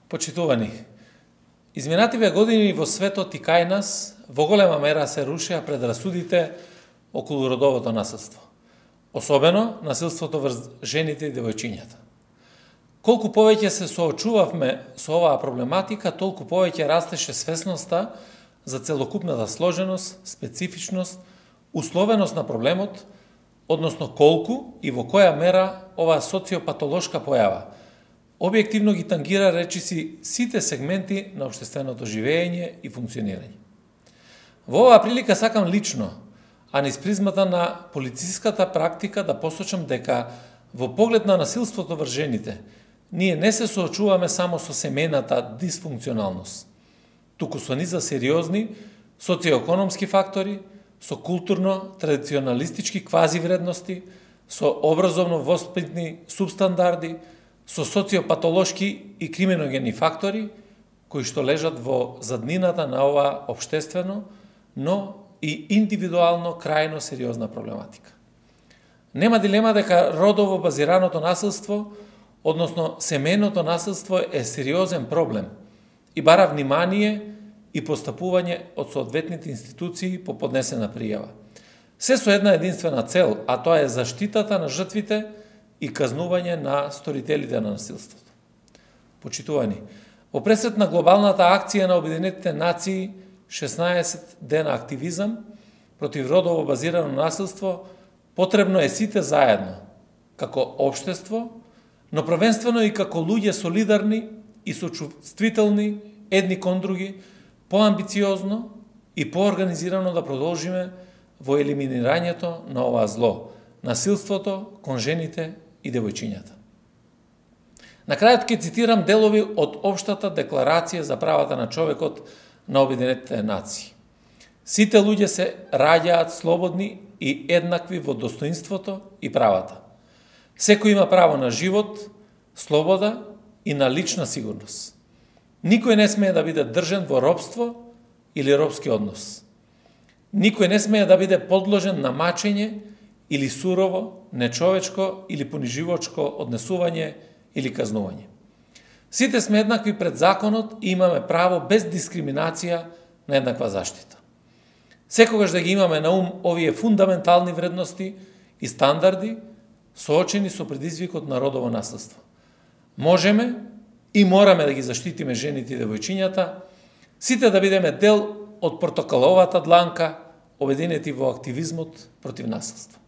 Почитувани, изминативе години во светот и кај нас во голема мера се рушеа предрасудите околу родовото насилство, особено насилството врз жените и девојчињата. Колку повеќе се соочувавме со оваа проблематика, толку повеќе растеше свесноста за целокупната сложеност, специфичност, условеност на проблемот, односно колку и во која мера оваа социопатолошка појава објективно ги тангира речиси сите сегменти на општественото живење и функционирање. Во оваа прилика сакам лично, а низ призмата на полициската практика да посочам дека во поглед на насилството врз жените, ние не се соочуваме само со семејната дисфункционалност, туку со низа сериозни социоекономски фактори, со културно-традиционалистички квази вредности, со образовно-воспитни субстандарди, со социопатолошки и криминогени фактори, кои што лежат во заднината на оваа општествено, но и индивидуално крајно сериозна проблематика. Нема дилема дека родово базираното насилство, односно семејното насилство е сериозен проблем и бара внимание и постапување од соодветните институции по поднесена пријава. Се со една единствена цел, а тоа е заштитата на жртвите и казнување на сторителите на насилството. Почитувани, во пресрет на глобалната акција на Обединетите нации 16 дена активизам против родово базирано насилство, потребно е сите заедно, како општество, но првенствено и како луѓе солидарни и сочувствителни едни кон други, поамбициозно и поорганизирано да продолжиме во елиминирањето на ова зло, насилството кон жените и девојчињата. На крајот ќе цитирам делови од Општата декларација за правата на човекот на Обединетите нации. Сите луѓе се раѓаат слободни и еднакви во достоинството и правата. Секој има право на живот, слобода и на лична сигурност. Никој не смее да биде држен во робство или робски однос. Никој не смее да биде подложен на мачење или сурово, нечовечко или пониживачко однесување или казнување. Сите сме еднакви пред законот и имаме право без дискриминација на еднаква заштита. Секогаш да ги имаме на ум овие фундаментални вредности и стандарди, соочени со предизвикот на родово насилство. Можеме и мораме да ги заштитиме жените и девојчињата, сите да бидеме дел од протоколовата дланка, обединети во активизмот против насилство.